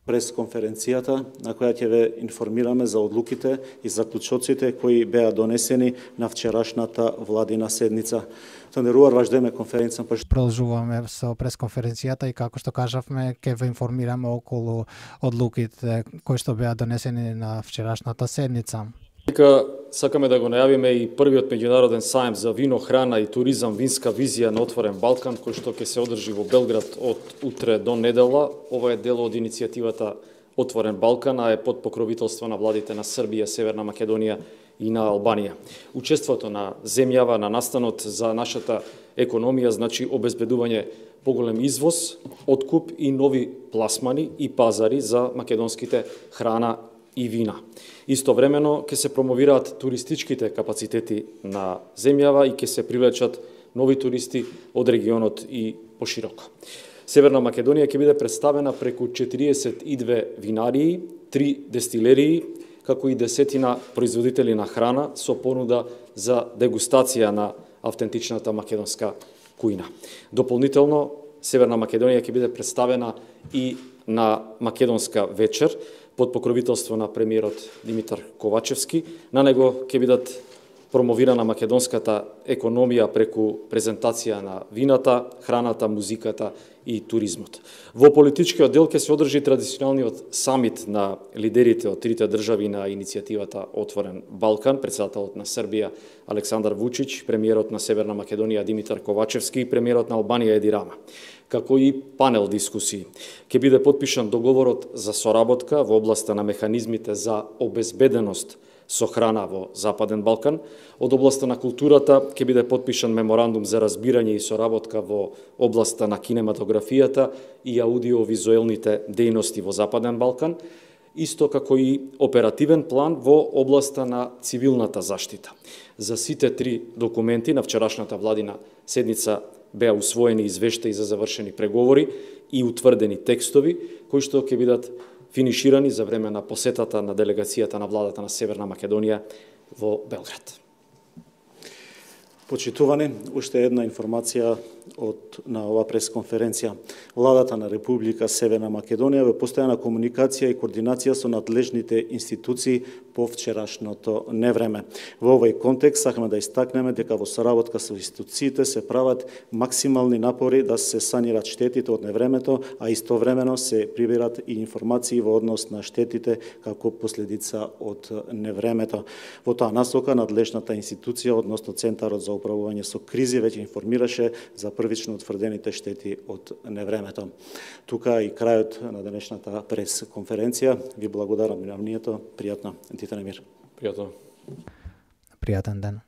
пресконференцијата на која ќе ве информираме за одлуките и заклучоците кои беа донесени на вчерашната владина седница. Тандерувар важдеме конференција. Продолжуваме со пресконференцијата и како што кажавме ќе ве информираме околу одлуките кои што беа донесени на вчерашната седница. Сакаме да го најавиме и првиот меѓународен сајм за вино, храна и туризам, винска визија на Отворен Балкан, кој што ќе се одржи во Белград од утре до недела. Ова е дел од иницијативата Отворен Балкан, а е под покровителство на владите на Србија, Северна Македонија и на Албанија. Учеството на земјава на настанот за нашата економија значи обезбедување поголем извоз, откуп и нови пласмани и пазари за македонските храна и вина. Истовремено ќе се промовираат туристичките капацитети на земјава и ќе се привлечат нови туристи од регионот и пошироко. Северна Македонија ќе биде представена преку 42 винарии, 3 дестилерии, како и десетина производители на храна со понуда за дегустација на автентичната македонска кујна. Дополнително, Северна Македонија ќе биде представена и на македонска вечер под покровителство на премиерот Димитар Ковачевски. На него ќе бидат промовирана македонската економија преку презентација на вината, храната, музиката и туризмот. Во политичкиот дел ќе се одржи традиционалниот самит на лидерите од трите држави на иницијативата Отворен Балкан, претседателот на Србија Александар Вучич, премиерот на Северна Македонија Димитар Ковачевски и премиерот на Албанија Еди Рама, како и панел дискусии. Ќе биде подпишан договорот за соработка во областа на механизмите за обезбеденост со храна во Западен Балкан. Од областа на културата ќе биде подпишан меморандум за разбирање и соработка во областа на кинематографијата и аудиовизуелните дејности во Западен Балкан, исто како и оперативен план во областа на цивилната заштита. За сите три документи на вчерашната владина седница беа усвоени извештаи за завршени преговори и утврдени текстови, кои што ќе бидат финиширани за време на посетата на делегацијата на владата на Северна Македонија во Белград. Почитувани, уште една информација на ова пресконференција. Владата на Република Северна Македонија во постојана комуникација и координација со надлежните институции по вчерашното невреме. Во овој контекст сакаме да истакнеме дека во соработка со институциите се прават максимални напори да се санират штетите од невремето, а истовремено се прибират и информации во однос на штетите како последица од невремето. Во таа насока надлежната институција, односно Центарот за управување со кризи, веќе информираше за првично утврдените штети од невремето. Тука и крајот на денешната пресконференција. Ви благодарам на вниманието. Пријатно. Титане мир. Пријатно. Пријатен ден.